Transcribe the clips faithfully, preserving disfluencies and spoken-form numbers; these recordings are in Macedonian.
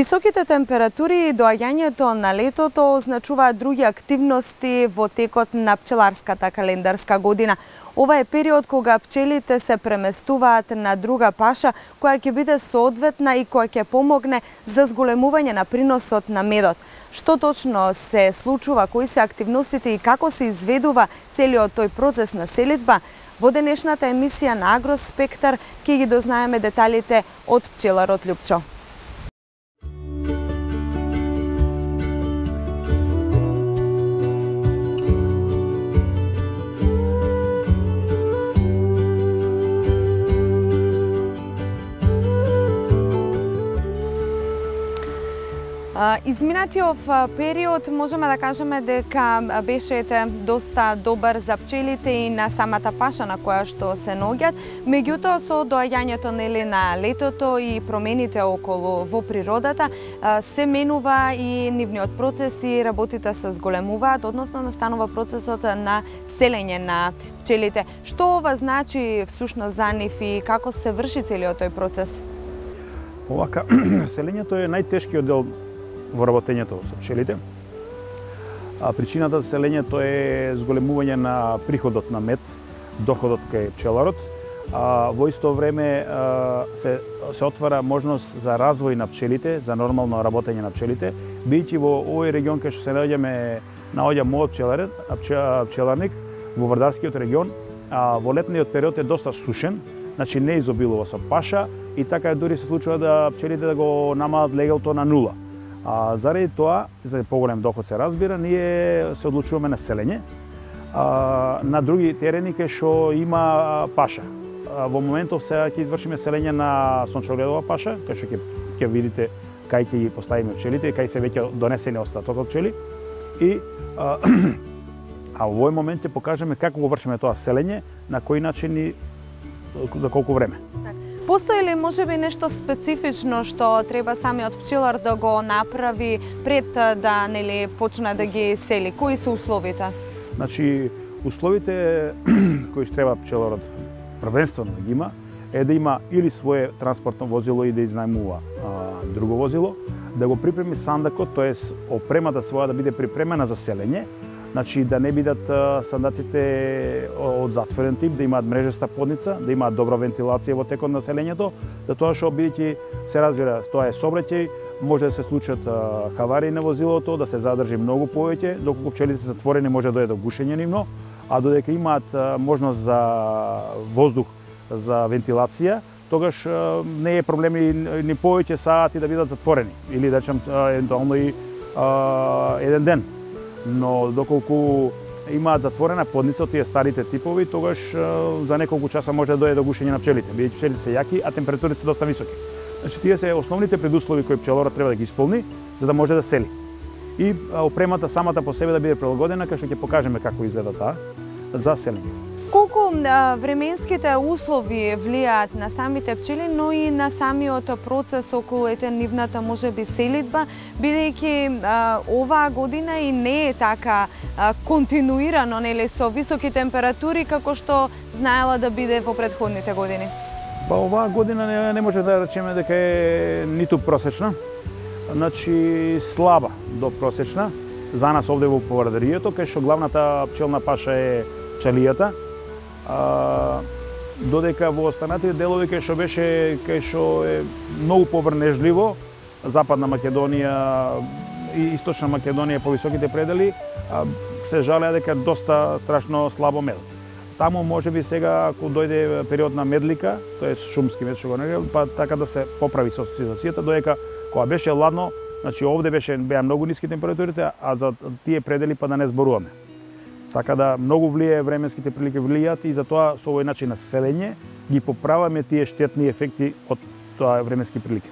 Високите температури и доаѓањето на летото означуваат други активности во текот на пчеларската календарска година. Ова е период кога пчелите се преместуваат на друга паша која ќе биде соодветна и која ќе помогне за зголемување на приносот на медот. Што точно се случува, кои се активностите и како се изведува целиот тој процес на селидба? Во денешната емисија на Агроспектар ќе ги дознаеме деталите од пчеларот Љупчо. Изминатиот период можеме да кажеме дека беше доста добар за пчелите и на самата паша на која што се наоѓаат. Меѓутоа, со доаѓањето нели на летото и промените околу во природата, се менува и нивниот процес и работите се зголемуваат, односно настанува процесот на селење на пчелите. Што ова значи всушност за нив и како се врши целиот тој процес? Овака, селењето е најтешкиот дел во работењето со пчелите. А причината за селењето е зголемување на приходот на мед, доходот кај пчеларот. А во исто време се се отвара можност за развој на пчелите, за нормално работење на пчелите, бидејќи во овој регион кај што се наоѓаме, наоѓа мојот пчеларен, пчеларник во Вардарскиот регион, а во летниот период е доста сушен, значи не изобилува со паша и така дури се случува да пчелите да го намалат легалто на нула. А заради тоа, за поголем доход се разбира, ние се одлучуваме на селење а, на други терени кај што има паша. А, во моментов сега ќе извршиме селење на сончогледова паша, кај што ќе ќе видите кај ќе ги поставиме пчелите и кај се веќе донесени остаток од пчели. И а, а во овој момент ќе покажеме како го вршиме тоа селење, на кој начин и за колку време. Постои ли можеби нешто специфично што треба самиот пчелар да го направи пред да нели почне да ги сели? Кои се условите? Значи, условите кои треба пчеларот првенствено да ги има е да има или свое транспортно возило и да изнајмува а, друго возило, да го припреми сандакот, тоест опремата своја да биде припремена за селење. Значи, да не бидат сандаците од затворен тип, да имаат мрежеста подница, да имаат добра вентилација во текот на селењето, да тоа што бидејќи се разбира, тоа е сообраќај, може да се случат хаварии на возилото, да се задржи многу повеќе, доколку пчелите се затворени може да дојде до гушење нивно, а додека имаат можност за воздух, за вентилација, тогаш не е проблем ни повеќе сати да бидат затворени, или да речем евентуално и еден ден. Но доколку имаат затворена подница од тие старите типови, тогаш за неколку часа може да дојде до гушење на пчелите, бидејќи пчелите се јаки, а температурите се доста високи. Значи тие се основните предуслови кои пчеларот треба да ги исполни за да може да сели. И опремата самата по себе да биде прилагодена, кај што ќе покажеме како изгледа таа за селење. Колку а, временските услови влијаат на самите пчели, но и на самиот процес околу ете нивната можеби селидба, бидејќи оваа година и не е така а, континуирано, нели, со високи температури како што знаела да биде во претходните години? Па оваа година не, не може да речеме дека е ниту просечна, значи слаба до просечна за нас овде во Вардарието, кај што главната пчелна паша е чалијата. А, додека во останатите делови кај што беше кај што е многу поврнежливо, Западна Македонија и Источна Македонија по високите предели, а, се жалеа дека доста страшно слабо мед. Таму можеби сега ако дојде период на медлика, тоест шумски мед што го нарекуваме, па така да се поправи со ситуацијата, додека кога беше ладно, значи овде беше беа многу ниски температурите, а за тие предели па да не зборуваме. Така да многу влијае временските прилики влијаат и затоа со овој начин на селење ги поправаме тие штетни ефекти од тоа временски прилики.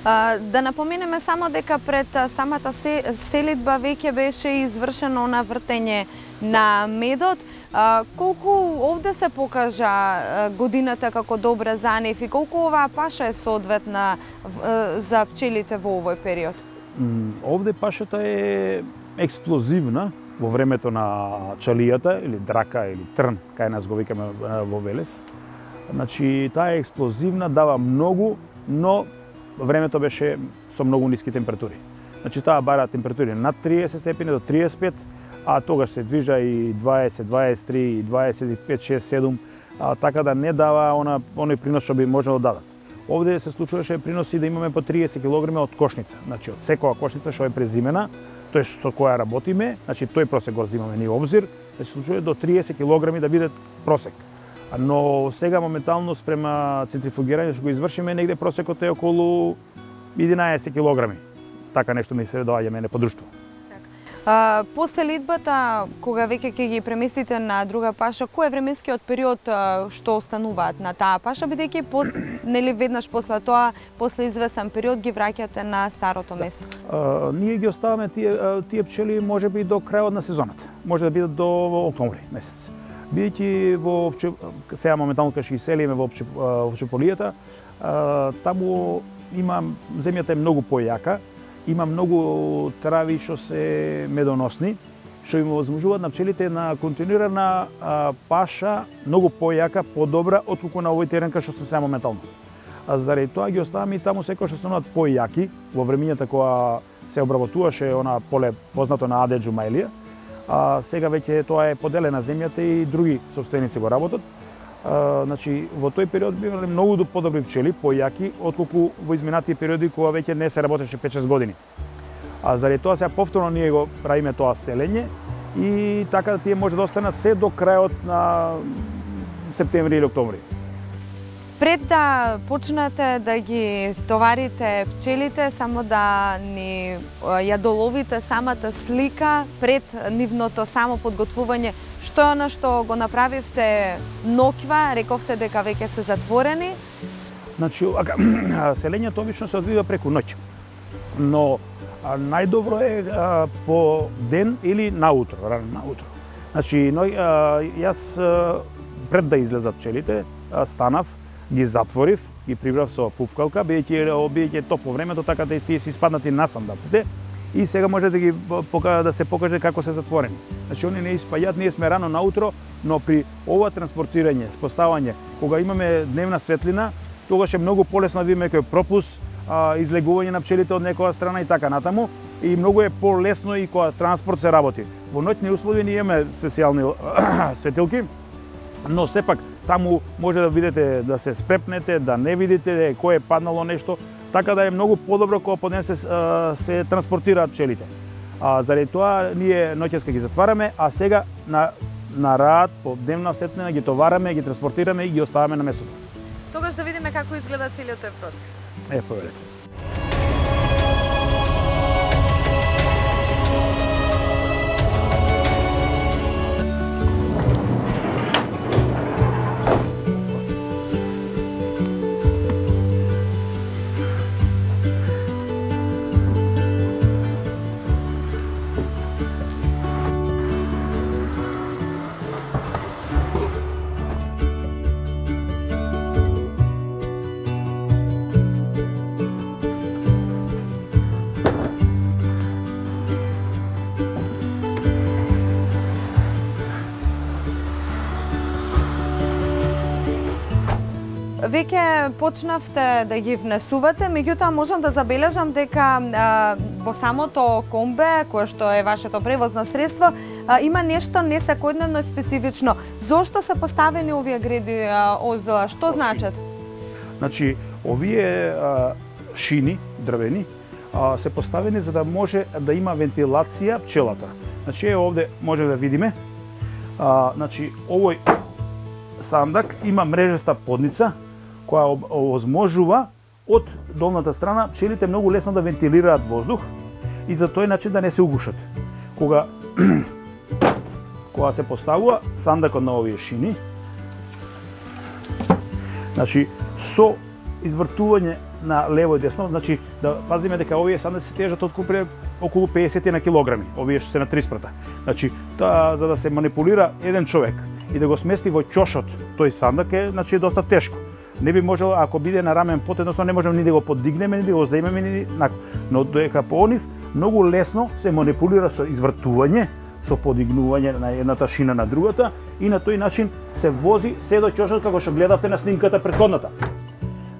А, да напоменеме само дека пред самата селидба веќе беше извршено на вртење на медот. А, колку овде се покажа а, годината како добра за нив и колку оваа паша е соодветна а, за пчелите во овој период? Овде пашата е експлозивна во времето на чалијата или драка или трн, кај нас го викаме во Велес. Значи, таа е експлозивна, дава многу, но времето беше со многу ниски температури. Значи таа бара температури над триесет степени до триесет и пет, а тогаш се движа и дваесет, дваесет и три, дваесет и пет, шест, седум, а, така да не дава она оној принос што би можело да дадат. Овде се случуваше приноси да имаме по триесет килограми од кошница. Значи од секоја кошница што е презимена, тој со која работиме, значи тој просек го земаме ние обзир, да се случува до триесет килограми да биде просек. Но сега моментално спрема центрифугирање што го извршиме, негде просекот е околу единаесет килограми. Така нешто ми се доаѓа мене по друштво. А, после литбата, кога веќе ќе ги преместите на друга паша, кој е временскиот период а, што остануваат на таа паша, бидејќи под, нели веднаш после тоа, после извесен период ги враќате на старото место? А, ние ги оставаме тие, тие пчели можеби до крајот на сезоната. Може да бидат до октомври месец. Бидејќи во сега моментално кога ќе ги селиме во Опчеполијата, таму има земјата е многу појака, има многу трави што се медоносни, што им возможуваат на пчелите на континуирана а, паша многу појака, подобра отколку на овој терен кај што сум сега моментално. А заради тоа ги оставаме и таму секој што стануваат појаки во времињата кога се обработуваше она поле познато на Адеджу Мајлија. А сега веќе тоа е поделена земјата и други сопственици го работат. А, значи во тој период би имале многу подобри пчели, појаки отколку во изминатите периоди кога веќе не се работеше пет-шест години. А заради тоа сега повторно ние го правиме тоа селење и така тие може да останат се до крајот на септември или октомври. Пред да почнете да ги товарите пчелите, само да ни ја доловите самата слика пред нивното само подготвување, што е она што го направивте ноќва, рековте дека веќе се затворени? Значи, селењето обично се одвива преку ноќ, но најдобро е а, по ден или наутро, рано наутро. Значи, но, а, јас а, пред да излезат пчелите, а, станав, ги затворив, ги прибрав со пуфкалка, бидејќи е топло времето, така да тие се испаднати на сандаците и сега може да ги да се покаже како се затворени. Значи, они не испаѓаат, ние сме рано наутро, но при ова транспортирање, поставање, кога имаме дневна светлина, тогаш е многу полесно да видиме кој пропус, а, излегување на пчелите од некоја страна и така натаму, и многу е полесно и кога транспорт се работи. Во ноќни услови ние имаме специјални светилки, но сепак таму може да видите, да се спрепнете, да не видите кој е паднало нешто, така да е многу подобро кога по ден се, се транспортираат пчелите. А заради тоа ние ноќеска ги затвараме, а сега на на рад по дневна светлина ги товараме, ги транспортираме и ги оставаме на местото. Тогаш да видиме како изгледа целиот тој процес. Е, поверете. Веќе почнавте да ги внесувате, меѓутоа можам да забележам дека а, во самото комбе, кое што е вашето превозно средство, а, има нешто несекојдневно специфично. Зошто се поставени овие греди озола? Што значат? Значи, овие а, шини, дрвени, а, се поставени за да може да има вентилација пчелата. Значи, е овде може да видиме. А, значи, овој сандак има мрежеста подница, која овозможува од долната страна пчелите многу лесно да вентилираат воздух и за тој начин да не се угушат. Кога кога се поставува сандакот на овие шини, значи со извртување на лево и десно, значи да пазиме дека овие сандаци се тежат откупре околу педесет на килограми, овие што се на три спрата. Значи, та, за да се манипулира еден човек и да го смести во ќошот тој сандак е, значи, доста тешко. Не би можело, ако биде на рамен пот, едноставно не можеме ни да го подигнеме, ни да го земеме, ни нако. Но дека по онив многу лесно се манипулира со извртување, со подигнување на едната шина на другата и на тој начин се вози се до ќошот како што гледавте на снимката претходната.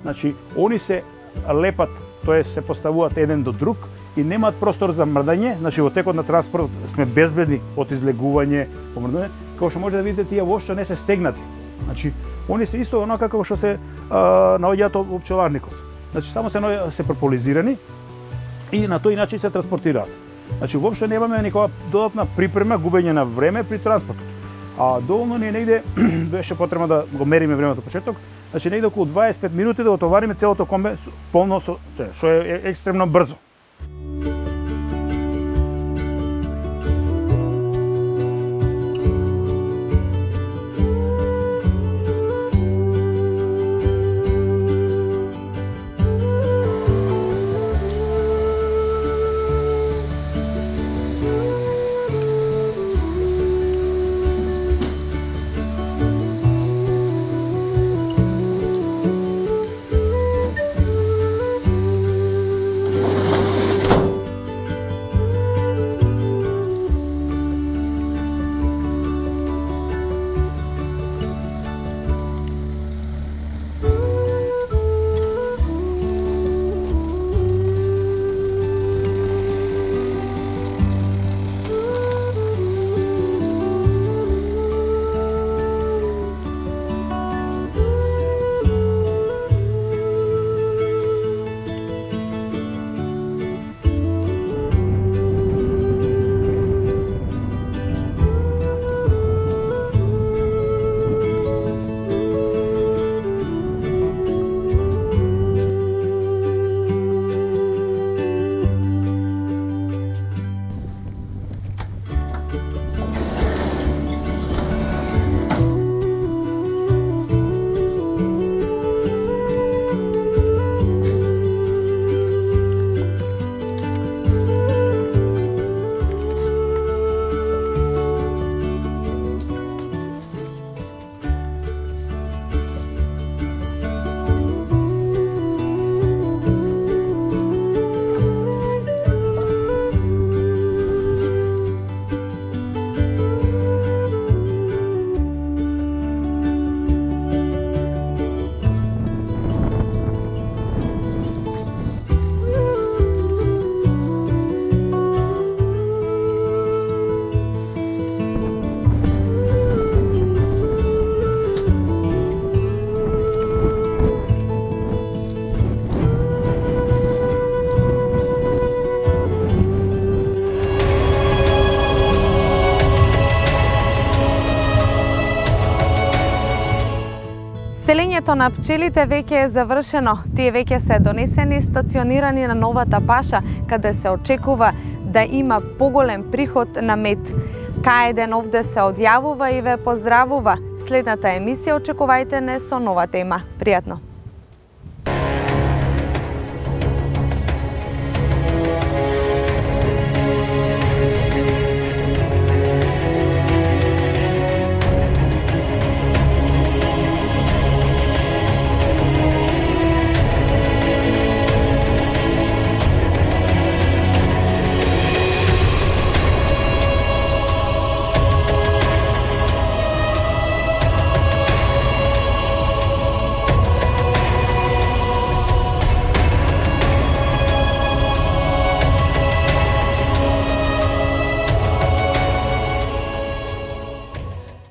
Значи, они се лепат тоа е се поставуваат еден до друг и немаат простор за мрдање, значи во текот на транспорт сме безбедни од излегување, помрдање, како што може да видите тие воопшто не се стегнати. Значи, они се исто онака како што се а, наоѓаат во пчеларникот. Значи, само се се прополизирани и на тој начин се транспортираат. Значи, воопшто немаме никаква додатна припрема, губење на време при транспортот. А доволно ни е негде, беше потребно да го мериме времето почеток, значи негде околу дваесет и пет минути да отовариме целото комбе полно со, што е екстремно брзо. Селењето на пчелите веќе е завршено. Тие веќе се донесени и стационирани на новата паша, каде се очекува да има поголем приход на мед. Каеден овде се одјавува и ве поздравува. Следната емисија очекувајте не со нова тема. Пријатно!